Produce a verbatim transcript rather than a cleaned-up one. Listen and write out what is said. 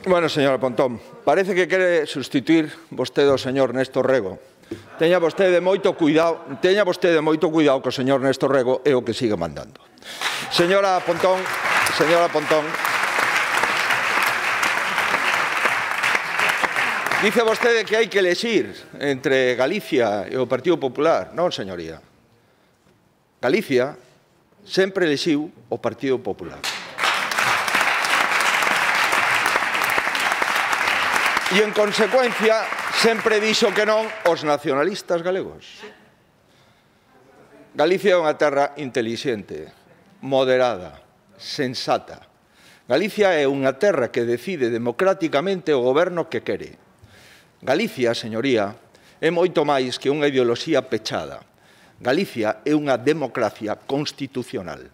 Bueno, señora Pontón, parece que quere sustituir vostede ao señor Néstor Rego. Teña vostede moito cuidado, teña vostede moito cuidado que o señor Néstor Rego é o que sigue mandando. Señora Pontón, señora Pontón, dice vostede que hai que elexir entre Galicia e o Partido Popular. Non, señoría. Galicia sempre elexiu o Partido Popular. E, en consecuencia, sempre dixo que non os nacionalistas galegos. Galicia é unha terra intelixente, moderada, sensata. Galicia é unha terra que decide democráticamente o goberno que quere. Galicia, señoría, é moito máis que unha ideoloxía pechada. Galicia é unha democracia constitucional.